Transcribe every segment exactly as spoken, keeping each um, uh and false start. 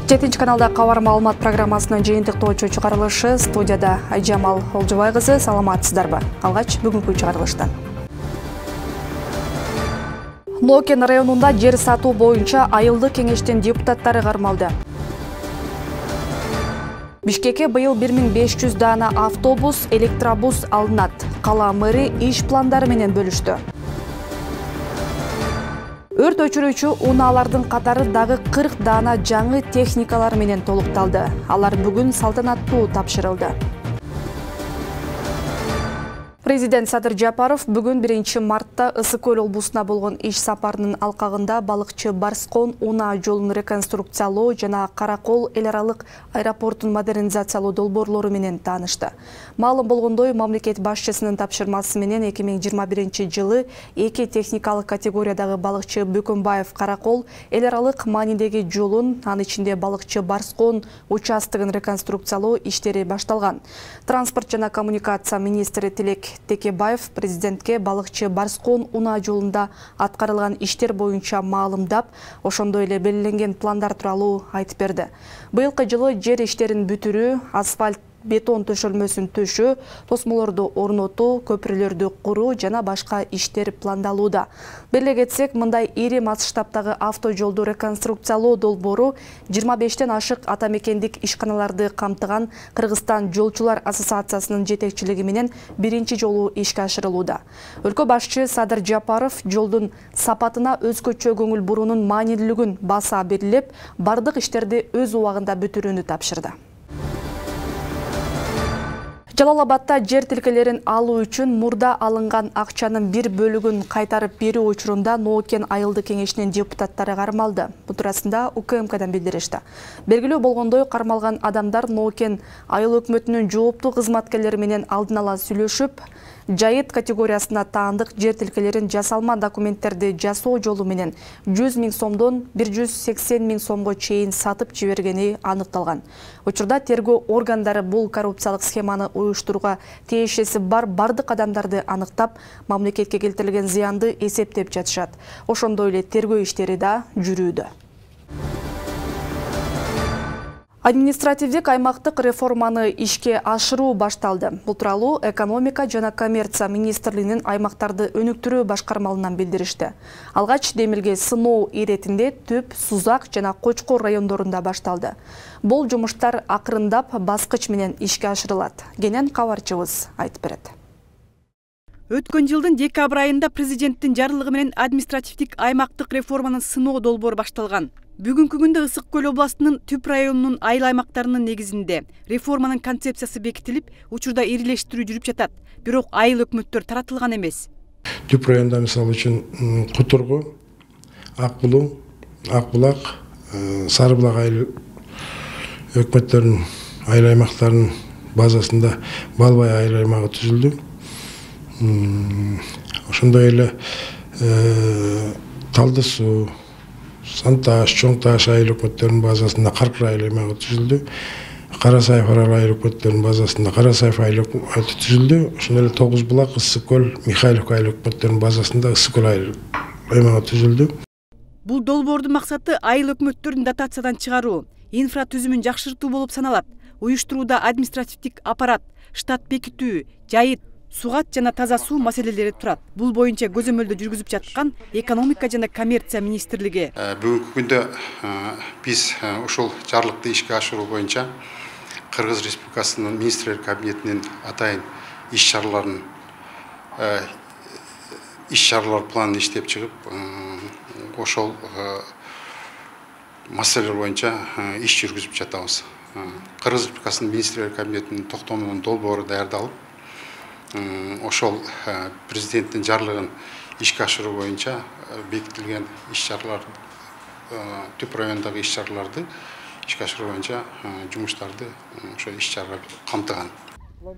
жетинчи каналда кабар маалымат программасынын жыйынтыктоочу чыгарылышы студияда Айжамал Олжобай кызы. Саламатсыздарбы? Алгач бүгүнкү чыгарылыштан. Нокен районунда жер сатуу боюнча айылдык кеңештин депутаттары кармалды. Бишкекке быйыл бир миң беш жүз даана автобус, электробус алынат. Кала мэри иш пландары менен бөлүштү. Өрт өчүрүүчү унаалардын катары дагы кырк даана жаңы техникалар менен толукталды. Алар бүгүн салтанаттуу тапшырылды. Президент Садыр Жапаров бүгүн биринчи мартта Ысык көл облусуна болгон иш сапарынын алкагында балыкчы Барскон унаа жолун реконструкциялоо жана Каракол эл аралык аэропортун модернизациялоо долбоорлору менен таанышты. Маалым болгондой, мамлекет башчысынын тапшырмасы менен эки миң жыйырма биринчи жылы эки техникалык категориядагы балыкчы Бөкөнбаев Каракол эл аралык маанидеги жолун, анын ичинде балыкчы Барскон участогун реконструкциялоо иштери башталган. Транспорт жана коммуникация министри Тилек Текебаев президентке балыкчы Барскон унаа жолунда аткарылган иштер боюнча маалымдап, ошондой эле белгиленген пландар тууралуу айтып берди. Быйылкы жылы жер иштерин бүтүрүү, асфальт бетон төшөлмөсүн төшөө, тосмолорду орнотуу, көпүрөлөрдү куруу жана башка иштер пландалууда. Беле кетсек, мындай ири масштабтагы автожолду реконструкциялоо долбоору жыйырма бештен ашык ата мекендик ишканаларды камтыган Кыргызстан жолчулар ассоциациясынын жетекчилиги менен биринчи жолу ишке ашырылууда. Өлкө башчы Садыр Жапаров жолдун сапатына өзгөчө көңүл буруунун маанилүүлүгүн баса белгилеп, бардык иштерди өз убагында бүтүрүүнү тапшырды. Жалал-Абадта жер тилкелерин алуу үчүн мурда алынган акчанын бир бөлүгүн кайтарып берүү учурунда Нокен айылдык кеңешинин депутаттары кармалды. Бул туурасында У К М Кдан билдиришти. Белгилүү болгондой, кармалган адамдар Нокен айыл өкмөтүнүн жооптуу кызматкерлери менен алдын ала сүйлөшүп, жайыт категориясына таандык жер тилкелерин жасалма документтерди жасоо жолу менен жүз миң сомдон бир жүз сексен миң сомго чейин сатып жибергени аныкталган. Учурда тергөө органдары бул коррупциялык схеманы уюштурууга тиешеси бар бардык адамдарды аныктап, мамлекетке келтирилген зыянды эсептеп жатышат. Ошондой эле тергөө иштери да жүрүүдө. Административдик аймактык реформаны ишке ашыруу башталды. Бул тууралуу экономика жана коммерция министрлигинин аймактарды өнүктүрүү башкармалынан билдиришти. Алгач демилге сыноо иретинде Төп, Сузак жана Кочкор райондорунда башталды. Бул жумуштар акырындап баскыч менен ишке ашырылат. Кенен кабарчыбыз айтып берет. Өткөн жылдын декабрь айында президенттин жарлыгы менен административдик аймактык реформанын сыноо долбоору башталган. Бүгүнкү күндө Ысык көл областынын Түп районунун айыл аймактарынын негизинде реформанын концепциясы бекитилип, учурда ирилештирүү жүрүп жатат. Бирок айыл өкмөттөр таратылган эмес. Түп районда мисалы үчүн Кутургу, Ак Булуң, Ак Булак, Сары Булак айыл өкмөттөрүнүн айыл аймактарынын базасында Балбай айыл аймагы түзүлдү. Ошондой эле Талды суу, Санташ, Чоң Таш айыл өкмөттөрүнүн базасында Каркыр айыл аймагы түзүлдү. Карасайф арал айыл өкмөттөрүнүн базасында Карасайф айыл аймагы түзүлдү. Ошондой эле Тогуз Булак, Ысык көл, Михайловка айыл өкмөттөрүнүн базасында Ысык көл айыл аймагы түзүлдү. Бул долбоордун максаты айыл өкмөттөрүн дотациядан чыгаруу, инфра түзүмүн жакшыртуу болуп саналат. Уюштурууда административдик аппарат, штат бекитүү, жайыт, сугат жана таза суу маселелери турат. Бул боюнча көзөмөлдө жүргүзүп жаткан экономика жана коммерция министрлиги. Бүгүнкү күндө биз ушул жарлыкты ишке ашыруу боюнча Кыргыз Республикасынын министрлер кабинетинин атайын иш чараларын иш чаралар планын иштеп чыгып, ошол маселелер боюнча иш жүргүзүп жатабыз. Кыргыз Республикасынын министрлер кабинетинин токтомунун долбоору даярдалып, ошол президенттин жарлыгын ишке ашыруу боюнча бекитилген иш чаралар, Түп райондагы иш чараларды ишке ашыруу боюнча жумуштарды ошо иш чаралар камтыган.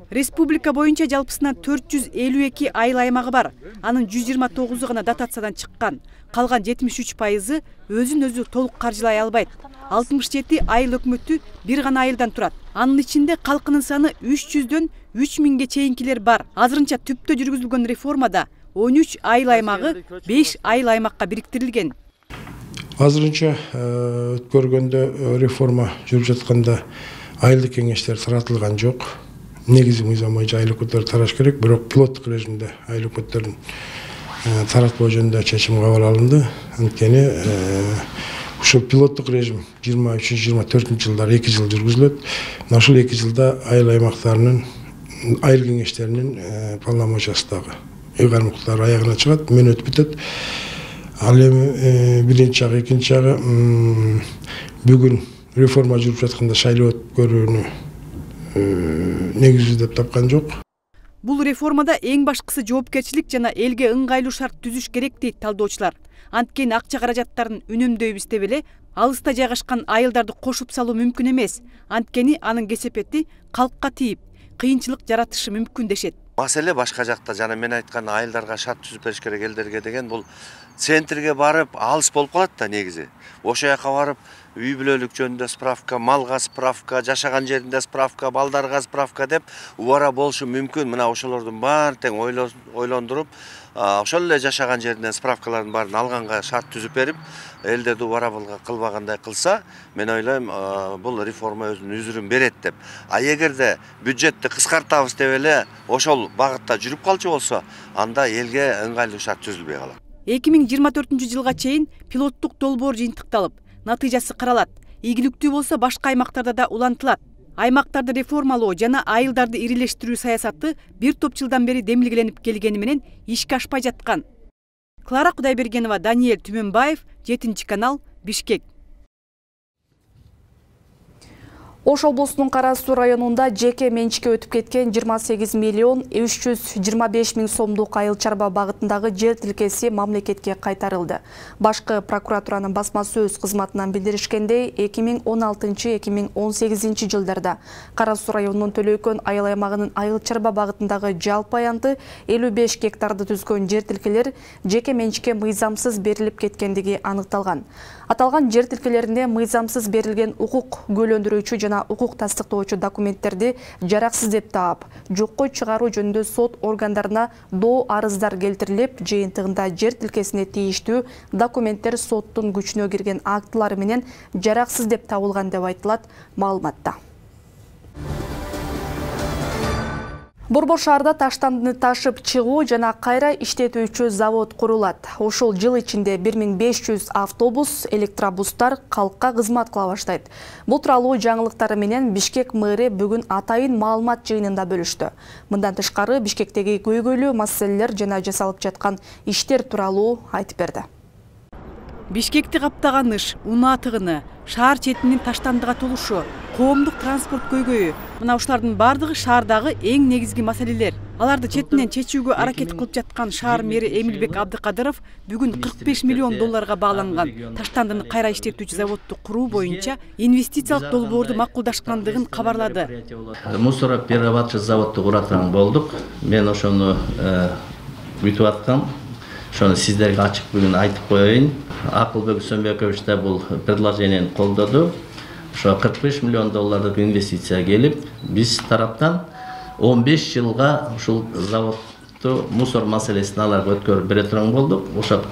Республика боюнча жалпысынан төрт жүз элүү эки айыл аймагы бар. Анын жүз жыйырма тогузу гана дотациядан чыккан. Калган жетимиш үч пайызы өзүн өзү толук каржылай албайт. алтымыш жети айыл өкмөтү бир гана айылдан турат. Анын ичинде калкынын саны үч жүздөн үч миңге чейинкилер бар. Азырынча түптө жүргүзүлгөн реформада он үч айыл аймагы беш айыл аймакка бириктирилген. Азырынча өткөргөндө реформа жүрүп жатканда айылдык кеңештер таратылган жок. Негизи мыйзам боюнча айыл өкмөттөрү тараш керек, бирок пилоттук режимде айыл өкмөттөрүн таратпоо жөнүндө чечим кабыл алынды. Анткени ушул пилоттук режим жыйырма үчүнчү жыйырма төртүнчү жылдары эки жыл жүргүзүлөт. Мына ушул эки жылда айыл аймактарынын айыл кеңештеринин полномочиясындагы ыйгарымдуулар аягына чыгат, мен өтүп бүтөт. Ал эми биринчи жагы, экинчи жагы бүгүн реформа жүрүп жатканда шайлоо өткөрүүнү негиз деп тапкан жок. Бул реформада эң башкысы жоопкерчилик жана элге ыңгайлуу шарт түзүш керек дейт талдоочулар. Анткени акча каражаттарын үнөмдөйбүз деп эле алыста жайгашкан айылдарды кошуп салуу мүмкүн эмес. Анткени анын кесепети калкка тийип, кыйынчылык жаратышы мүмкүн дешет. Маселе башка жакта, жана мен айткан айылдарга шарт түзүп бериш керек элдерге деген, бул центрге барып алыс болуп калат да негизи. Ошол жака барып үй бүлөлүк жөнүндө справка, малга справка, жашаган жеринде справка, балдарга справка деп убара болушу мүмкүн. Мына ошолордун баарын тең ойлондуруп, ошол эле жашаган жеринен справкалардын баарын алганга шарт түзүп берип, элдерди убара кылбагандай кылса, мен ойлойм, бул реформа өзүнүн үзүрүн берет деп. А эгерде бюджетти кыскартабыз деп эле ошол багытта жүрүп калчу болсо, анда элге ыңгайлуу шарт түзүлбөй калат. эки миң жыйырма төртүнчү жылга чейин пилоттук долбоор жыйынтыкталып, натыйжасы каралат. Ийгиликтүү болсо башка аймактарда да улантылат. Аймактарды реформалоо жана айылдарды ирилештирүү саясаты бир топ жылдан бери демилгеленип келгени менен ишке ашпай жаткан. Клара Кудайбергенова, Даниэль Түмөнбаев, жетинчи канал, Бишкек. Ош облусунун Кара Суу районунда жеке менчикке өтүп кеткен жыйырма сегиз миллион үч жүз жыйырма беш миң сомдук айыл чарба багытындагы жер тилкеси мамлекетке кайтарылды. Башкы прокуратуранын басма сөз кызматынан билдиришкендей, эки миң он алтынчы — эки миң он сегизинчи жылдарда Кара Суу районунун Төлөйкөн айыл аймагынын айыл чарба багытындагы жалпы аянты элүү беш гектарды түзгөн жер тилкелер жеке менчикке мыйзамсыз берилип кеткендиги аныкталган. Аталган жер тилкелерине мыйзамсыз берилген укук күбөлөндүрүүчү жана укук тастыктоочу документтерди жараксыз деп таап, жокко чыгаруу жөнүндө сот органдарына доо арыздар келтирилип, жыйынтыгында жер тилкесине тийиштүү документтер соттун күчүнө кирген актылары менен жараксыз деп табылган деп айтылат маалыматта. Борбор шаарда таштандыны ташып чыгуу жана кайра иштетүүчү завод курулат. Ошол жыл ичинде бир миң беш жүз автобус, электробустар калкка кызмат кыла баштайт. Бул тууралуу жаңылыктары менен Бишкек мэри бүгүн атайын маалымат жыйынында бөлүштү. Мындан тышкары Бишкектеги көйгөйлүү маселелер жана жасалып жаткан иштер тууралуу айтып берди. Бишкекти каптаган ыш, унаа тыгыны, шаар четинин таштандыга толушу, коомдук транспорт көйгөйү, мына ушулардын бардыгы шаардагы эң негизги маселелер. Аларды четинен чечүүгө аракет кылып жаткан шаар мэри Эмилбек Абдыкадыров бүгүн кырк беш миллион долларга бааланган таштандыны кайра иштетүүчү заводду куруу боюнча инвестициялык долбоорду макулдашкандыгын кабарлады. Мусороперерабатчы заводду куратын болдук. Мен ошону бүтүп аткам. Ошону сиздерге ачык бүгүн айтып коеюн. Акылбек Сөнбекович да бул предложениени колдоду. Ошо кырк беш миллион доллардык инвестиция келип, биз тараптан он беш жылга ушул заводду мусор маселесин аларга өткөрүп бере турган болдук. Ошо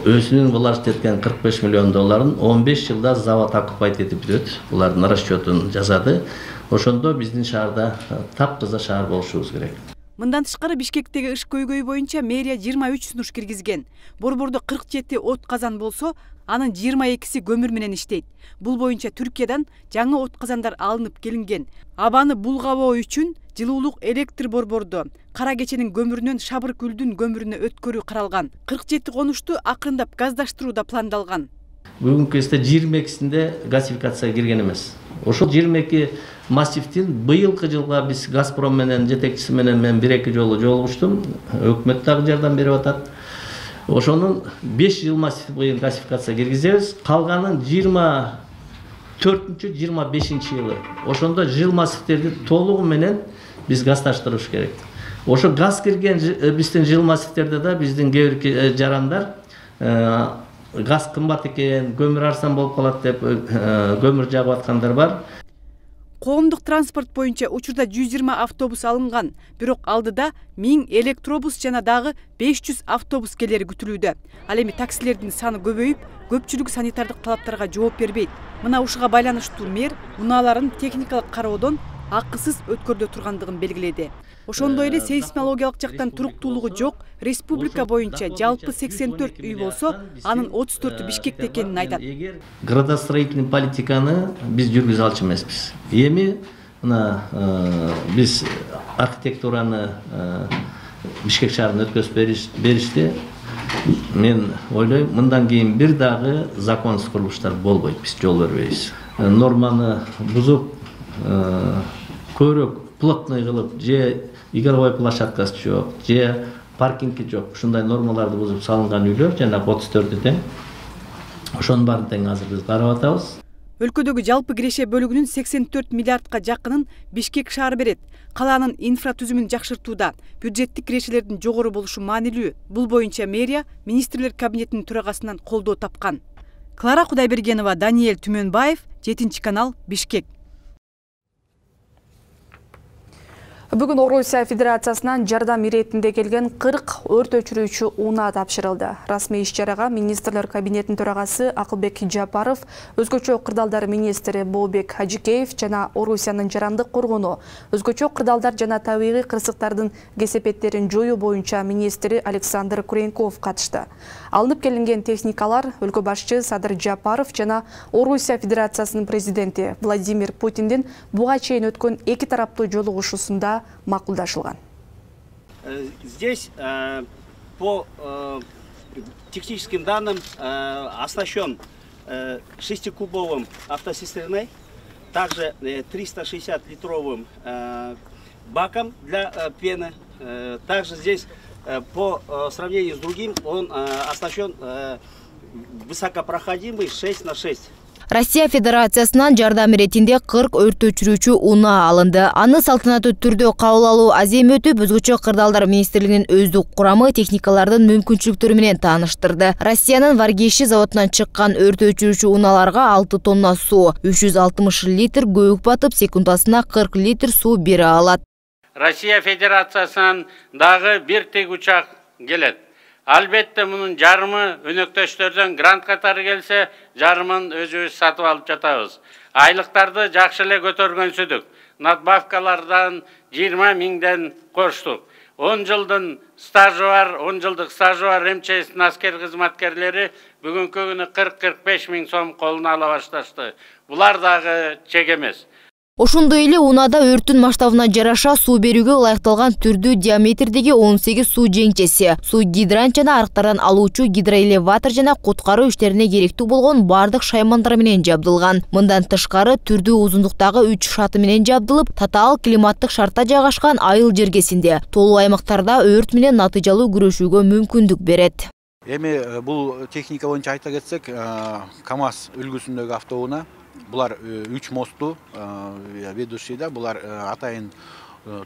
өзүнүн булар иштеткен кырк беш миллион долларын он беш жылда завод оккупайт этип бүтөт. Булардын расчетун жазады. Ошондо биздин шаарда таптаза шаар болушубуз керек. Мындан тышкары Бишкектеги ыш көйгөйү боюнча мэрия жыйырма үч сунуш киргизген. Борбордо кырк жети от казан болсо, анын жыйырма экиси көмүр менен иштейт. Бул боюнча Түркиядан жаңы от казандар алынып келинген. Абаны булгабоо үчүн жылуулук электр борбордо Кара кеченин көмүрүнөн Шабыр күлдүн көмүрүнө өткөрүү каралган. кырк жети конушту акырындап газдаштыруу да пландалган. Бүгүнкү кезде жыйырма экисинде газификацияга кирген эмес. Ошол жыйырма эки массивдин быйылкы жылга биз Газпром менен жетекчиси менен мен бир эки жолу жолугуштум. Өкмөт дагы жардам берип атат. Ошонун беш жыл массив боюнча газификацияга киргизебиз. Калганын жыйырма төртүнчү жыйырма бешинчи жылы. Ошондо жыл массивдерди толугу менен биз газдаштырыш керек. Ошо газ кирген биздин жыл массивдерде да биздин кээ бир жарандар газ кымбат экен, көмүр арзан болуп калат деп көмүр жагып аткандар бар. Коомдук транспорт боюнча учурда жүз жыйырма автобус алынган, бирок алдыда миң электробус жана дагы беш жүз автобус келери күтүлүүдө. Ал эми таксилердин саны көбөйүп, көпчүлүгү санитардык талаптарга жооп бербейт. Мына ушуга байланыштуу мэр унааларын техникалык кароодон акысыз өткөрдө тургандыгын белгиледи. Ошондой эле сейсмологиялык жактан туруктуулугу жок республика боюнча жалпы сексен төрт үй болсо, анын отуз төртү Бишкекте экенин айтат. Градостроительный политиканы биз жүргүзө алчу эмеспиз. Эми мына биз архитектураны Бишкек шаарына өткөзүп беришти. Мен ойлойм, мындан кийин бир дагы законсуз курулуштар болбойт, биз жол бербейбиз. Норманы бузуп, көрөк плотный кылып, же игровой площадкасы жок, же паркинги жок, ушундай нормаларды бузуп салынган үйлөр жана отуз төртү тең. Ошонун баарын тең азыр биз карап атабыз. Өлкөдөгү жалпы киреше бөлүгүнүн сексен төрт миллиардка жакынын Бишкек шаары берет. Калаанын инфратүзүмүн жакшыртууда бюджеттик кирешелердин жогору болушу маанилүү. Бул боюнча мэрия министрлер кабинетинин төрагасынан колдоо тапкан. Клара Кудайбергенова, Даниэль Түмөнбаев, жетинчи канал, Бишкек. Бүгүн Орусия Федерациясынан жардам иретинде келген кырк өрт өчүрүүчү унаа тапшырылды. Расмий иш-чарага министрлер кабинетинин төрагасы Акылбек Жапаров, өзгөчө кырдаалдар министри Бообек Хажикеев жана Орусиянын жарандык коргону, өзгөчө кырдаалдар жана табигый кырсыктардын кесепеттерин жоюу боюнча министри Александр Куренков катышты. Алынып келинген техникалар өлкө башчы Садыр Жапаров жана Орусия Федерациясынын президенти Владимир Путиндин буга чейин өткөн эки тараптуу жолугушуусунда макулдашылган. Здесь э, по э, техническим данным э, оснащен э, шестикубовым автоцистерной, также э, триста шестьдесят литровым э, баком для э, пены. Э, также здесь э, по э, сравнению с другим он э, оснащен э, высокопроходимый шесть на шесть. Россия Федерациясынан жардам иретинде кырк өрт өчүрүүчү унаа алынды. Аны салтанаттуу түрдө кабыл алуу азем өтүп, өзгөчө кырдаалдар министрлигинин өздүк курамы техникалардын мүмкүнчүлүктөрү менен тааныштырды. Россиянын Варгейши заводунан чыккан өрт өчүрүүчү унааларга алты тонна суу, үч жүз алтымыш литр көбүк батып, секундасына кырк литр суу бере алат. Россия Федерациясынан дагы бир тег учак келет. Албетте мунун жарымы өнөктөштөрдөн грант катары келсе, жарымын өзүбүз сатып алып жатабыз. Айлыктарды жакшы эле көтөргөнсүдүк. Надбавкалардан жыйырма миңден коштук. он жылдын стажы бар, он жылдык стажы бар МЧСтин аскер кызматкерлери бүгүнкү күнү кырк кырк беш миң сом колуна ала башташты. Булар дагы чек эмес. Ошондой эле унаада өрттүн масштабына жараша суу берүүгө ылайыкталган түрдүү диаметрдеги он сегиз суу жеңчеси, суу гидрант жана арыктардан алуучу гидроэлеватор жана куткаруу иштерине керектүү болгон бардык шаймандар менен жабдылган. Мындан тышкары түрдүү узундуктагы үч шаты менен жабдылып, татаал климаттык шартта жайгашкан айыл жергесинде толуу аймактарда өрт менен натыйжалуу күрөшүүгө мүмкүндүк берет. Эми бул техника боюнча айта кетсек, КАМАЗ үлгүсүндөгү автоунаа. Булар үч мосту ведущий да, булар атайын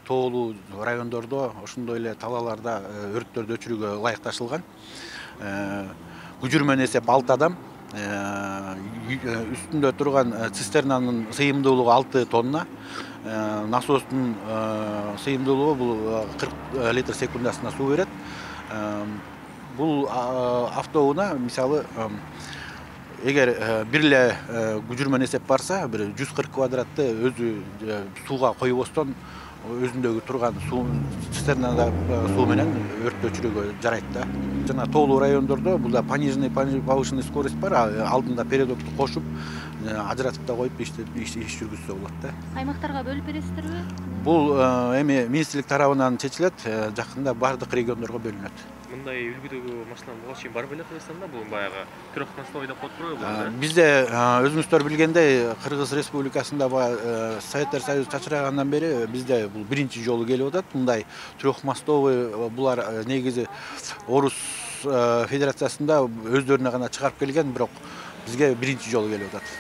тоолуу райондордо, ошондой эле талааларда өрттөрдү өчүрүүгө ылайыкташылган. Күжүрмөн эсеп алты адам, үстүндө турган цистернанын сыйымдуулугу алты тонна, насостун сыйымдуулугу бул кырк литр секундасына суу берет. Бул автоунаа мисалы эгер бир эле күжүрмөн эсеп барса, бир жүз кырк квадратты өзү сууга койбостон өзүндөгү турган суу цистернада суу менен өрт өчүрүүгө жарайт да. Жана тоолуу райондордо бул да пониженный повышенный скорость бар, алдында передокту кошуп, ажыратып да коюп иш жүргүзсө болот да. Аймактарга бөлүп бересиздерби? Бул эми министрлик тарабынан чечилет, жакында бардык региондорго бөлүнөт. Мындай үлгүдөгү машина буга чейин бар беле Кыргызстанда? Бул баягы трехмостовой деп коет турбайбы? Бизде өзүңүздөр билгендей, Кыргыз Республикасында Советтер Союзу чачырагандан бери бизде бул биринчи жолу келип атат. Мындай трехмостовый булар негизи Орус Федерациясында өздөрүнө гана чыгарып келген, бирок бизге биринчи жолу келип атат.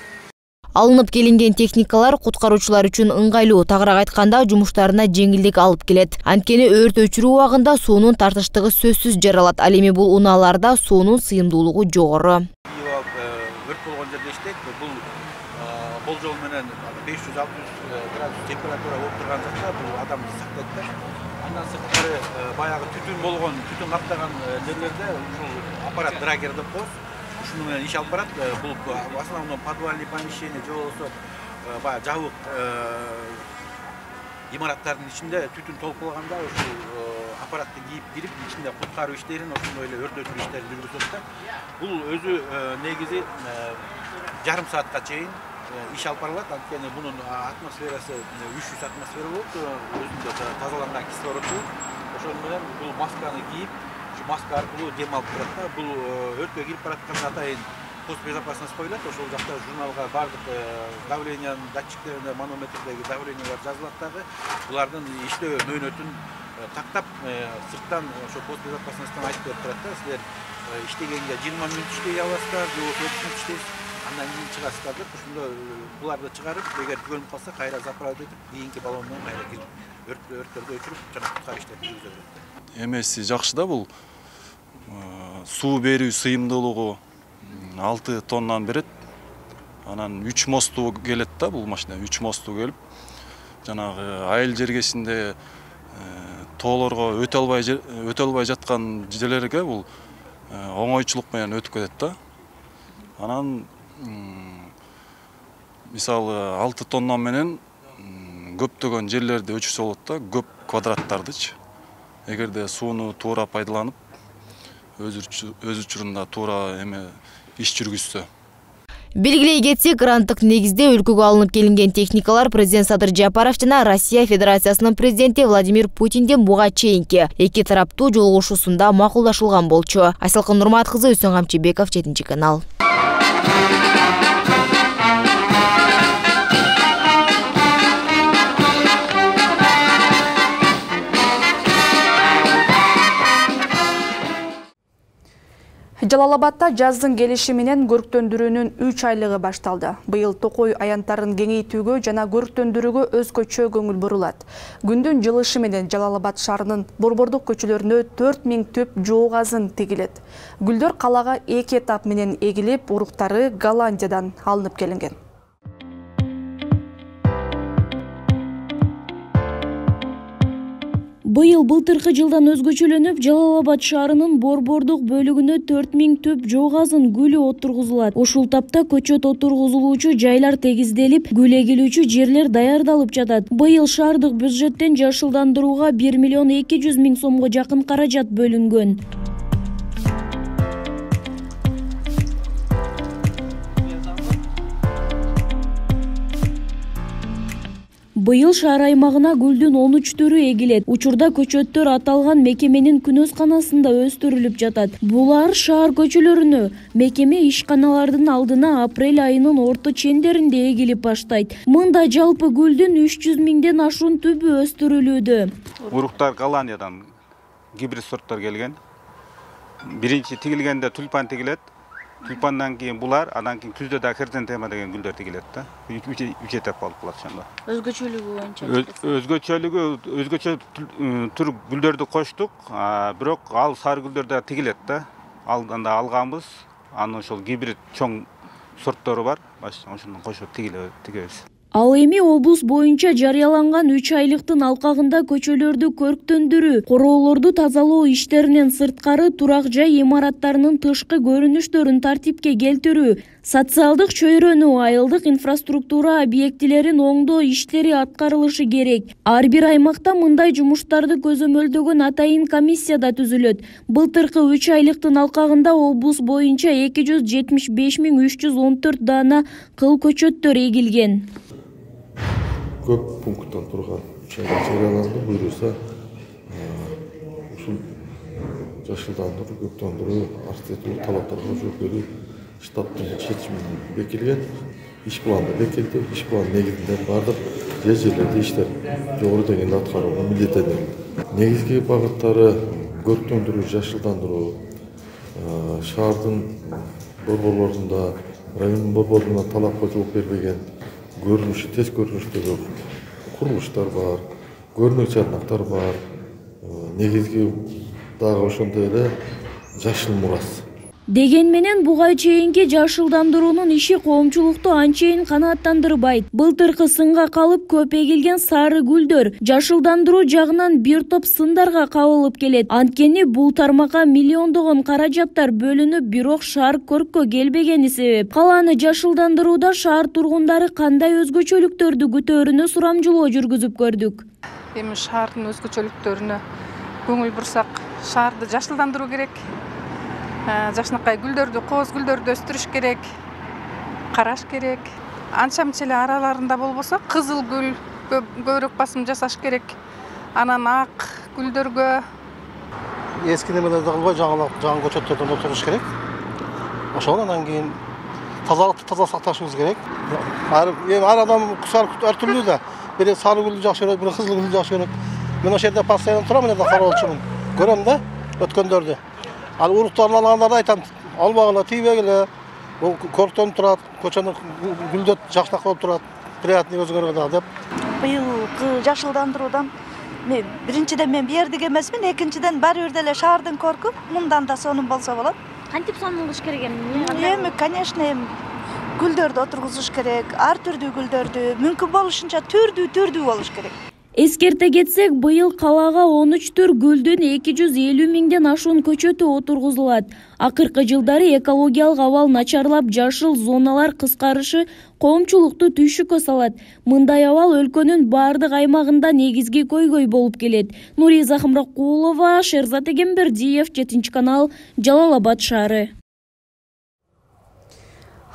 Алынып келинген техникалар куткаруучулар үчүн ыңгайлуу, тагыраак айтканда жумуштарына жеңилдик алып келет. Анткени өрт өчүрүү убагында суунун тартыштыгы сөзсүз жаралат. Ал эми бул унааларда суунун сыйымдуулугу жогору. Өрт болгон жерде иштейт. Бул болжол менен беш жүз алты жүз градус температура болуп турган жакта бул адамды сактайт да. Андан сырткары баягы түтүн болгон, түтүн каптаган жерлерде ушул аппарат драгер деп коебуз. Ушуну менен иш алып барат. Бул в основном подвальный помещение же болбосо баягы жабык имараттардын ичинде түтүн толуп калганда ушул аппаратты кийип кирип ичинде куткаруу иштерин, ошондой эле өрт өчүрүү иштерин жүргүзөт да. Бул өзү негизи жарым саатка чейин иш алып барылат. Анткени бунун атмосферасы үч жүз атмосфера болот, өзүндө тазаланган кислороду. Ошону менен бул масканы кийип, ушу маска аркылуу дем алып турат да. Бул өрткө кирип баратканда атайын пост безопасность коюлат. Ошол жакта журналга бардык давлениянын датчиктерине, манометрдеги давлениялар жазылат дагы. Булардын иштөө мөөнөтүн тактап, сырттан ошо пост безопасностьтан айтып берип турат да. Силер иштегенге жыйырма мүнөт иштей аласыздар, же болбосо отуз мүнөт иштейсиз, андан кийин чыгасыздар деп, ошондо буларды чыгарып, эгер көнүп калса кайра заправить этип, кийинки баллон менен кайра кирип, өрттөрдү өчүрүп, жана куткаруу иштерин жүргүзө берет. Эмеси жакшы да, бул суу берүү сыйымдуулугу алты тоннаны берет. Анан үч мосту келет да, бул машина үч мосту келип, жанагы айыл жергесинде тоолорго өтө албай өтө албай жаткан жерлерге бул оңойчулук менен өтүп кетет да. Анан мисалы алты тонна менен көптөгөн жерлерди өчүрсө болот да, көп квадраттардычы. Эгерде сууну туура пайдаланып, өз учурунда туура эме иш жүргүзсө. Белгилей кетсек, гранттык негизде өлкөгө алынып келинген техникалар президент Садыр Жапаров жана Россия Федерациясынын президенти Владимир Путинден буга чейинки эки тараптуу жолугушуусунда макулдашылган болчу. Айсалкын Нурмат кызы, Үсөн Камчыбеков, жетинчи канал. Жалал-Абадта жаздын келиши менен көрктөндүрүүнүн үч айлыгы башталды. Быйыл токой аянтарын кеңейтүүгө жана көрктөндүрүүгө өзгөчө көңүл бурулат. Күндүн жылышы менен Жалал-Абад шаарынын борбордук көчөлөрүнө төрт миң түп жоо газын тигилет. Гүлдөр калага эки этап менен эгилип, уруктары Голландиядан алынып келинген. Быйыл былтыркы жылдан өзгөчөлөнүп, Жалал-Абад шаарынын борбордук бөлүгүнө төрт миң түп жоо газын гүлү отургузулат. Ушул тапта көчөт отургузулуучу жайлар тегизделип, гүл эгилүүчү жерлер даярдалып жатат. Быйыл шаардык бюджеттен жашылдандырууга бир миллион эки жүз миң сомго жакын каражат бөлүнгөн. Быйыл шаар аймагына гүлдүн он үч түрү эгилет. Учурда көчөттөр аталган мекеменин күнөзканасында өстүрүлүп жатат. Булар шаар көчөлөрүнө мекеме ишканалардын алдына апрель айынын орто чендеринде эгилип баштайт. Мында жалпы гүлдүн үч жүз миңден ашуун түбү өстүрүлүүдө. Уруктар Голландиядан гибрид сорттор келген. Биринчи тигилгенде тюльпан тигилет. Тюльпандан кийин булар, андан кийин күздө да хризантема деген гүлдөр тигилет да. үч этап алып калат ошондо. Өзгөчөлүгү боюнча. Өзгөчөлүгү, өзгөчө түр гүлдөрдү коштук, бирок ал сары гүлдөр да тигилет да. Алдан да алганбыз. Анын ошол гибрид чоң сорттору бар. Ошондон кошуп тигебиз. Ал эми облус боюнча жарыяланган үч айлыктын алкагында көчөлөрдү көрктөндүрүү, короолорду тазалоо иштеринен сырткары турак жай имараттарынын тышкы көрүнүштөрүн тартипке келтирүү, социалдык чөйрөнү, айылдык инфраструктура объектилерин оңдоо иштери аткарылышы керек. Ар бир аймакта мындай жумуштарды көзөмөлдөгөн атайын комиссия да түзүлөт. Былтыркы үч айлыктын алкагында облус боюнча эки жүз жетимиш беш миң үч жүз он төрт даана кыл көчөттөр эгилген. Көп пункттан турган жарыяланды, буйруса ушул жашылдандыруу, көктөндүрүү, архитектура талаптарга жооп берүү штаттын чечими бекилген. Иш планы бекилди, иш план негизинде бардык жер жерлерде иштер жогору деңгээлде аткарууга милдеттенген. Негизги багыттары көрктөндүрүү, жашылдандыруу, шаардын борборлорунда, райондун борборлоруна талапка жооп бербеген көрүнүшү, тез көрүнүштөгү курулуштар бар, көрүнөк чарнактар бар. Негизги дагы ошондой эле жашыл мурас. Деген менен буга чейинки жашылдандыруунун иши коомчулукту анчейин канааттандырбайт. Былтыркы сынга калып көп эгилген сары гүлдөр жашылдандыруу жагынан бир топ сындарга кабылып келет. Анткени бул тармакка миллиондогон каражаттар бөлүнүп, бирок шаар көрккө келбегени себеп. Калааны жашылдандырууда шаар тургундары кандай өзгөчөлүктөрдү күтөөрүнө сурамжылоо жүргүзүп көрдүк. Эми шаардын өзгөчөлүктөрүнө көңүл бурсак, шаарды жашылдандыруу керек. Жакшынакай гүлдөрдү, кооз гүлдөрдү өстүрүш керек, караш керек. Анча мынча эле араларында болбосо, кызыл гүл көбүрөөк басым жасаш керек. Анан ак гүлдөргө эски немелерди кылбай жаңы жаңы көчөттөрдөн отуруш керек. Ошол анан кийин тазалыкты таза сакташыбыз керек. Ар адам ар түрлүү да. Бири сары гүлдү жакшы көрөт, бири кызыл гүлдү жакшы көрөт. Мен ошол жерде постоянно турам, мен да кароолчумун. Көрөм да өткөндөрдү. Ал уруктарын алгандарды айтам, албагыла, тийбегиле. Бул көрктөнүп турат, көчөнү гүлдөт жакшынакай болуп турат. Приятный өзүңөргө да деп. Быйылкы жашылдандыруудан мен биринчиден мен бердик эмесмин, экинчиден баары бир деле шаардын көркү, мындан да сонун болсо болот. Кантип сонун кылыш керек эми? Эми, конечно, эми гүлдөрдү отургузуш керек, ар түрдүү гүлдөрдү, мүмкүн болушунча түрдүү-түрдүү болуш керек. Эскерте кетсек, быйыл калаага он үч түр гүлдүн эки жүз элүү миңден ашуун көчөтү отургузулат. Акыркы жылдары экологиялык абал начарлап, жашыл зоналар кыскарышы коомчулукту түйшүккө салат. Мындай абал өлкөнүн баардык аймагында негизги көйгөй болуп келет. Нуриза Хамракулова, Шерзат Эгембердиев, жетинчи канал, Жалал Абад шаары.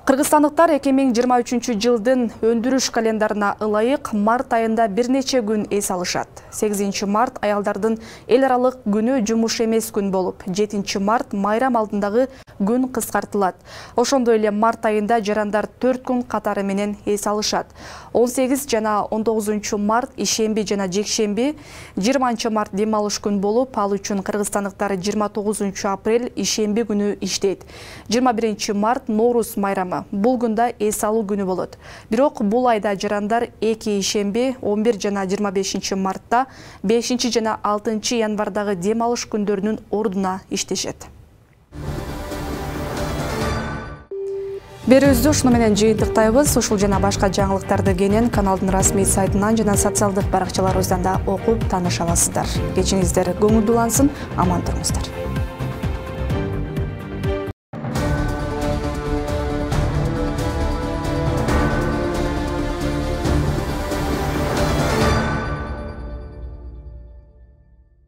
Кыргызстандыктар эки миң жыйырма үчүнчү жылдын өндүрүш календарына ылайык март айында бир нече күн эс алышат. сегизинчи март аялдардын эл аралык күнү жумуш эмес күн болуп, жетинчи март майрам алдындагы күн кыскартылат. Ошондой эле март айында жарандар төрт күн катары менен эс алышат. он сегиз жана он тогузунчу март ишемби жана жекшемби, жыйырманчы март дем алыш күн болуп, ал үчүн кыргызстандыктар жыйырма тогузунчу апрель ишемби күнү иштейт. жыйырма биринчи март Ноорус майрамы. Бул күндө эс алуу күнү болот. Бирок бул айда жарандар эки ишемби, он бир жана жыйырма бешинчи мартта, бешинчи жана алтынчы январдагы дем алыш күндөрүнүн ордуна иштешет. Берүүбүздү ушуну менен жыйынтыктайбыз. Ушул жана башка жаңылыктарды кенен каналдын расмий сайтынан жана социалдык баракчаларыбыздан да окуп тааныша аласыздар. Кечиңиздер көңүлдүү улансын, аман туруңуздар.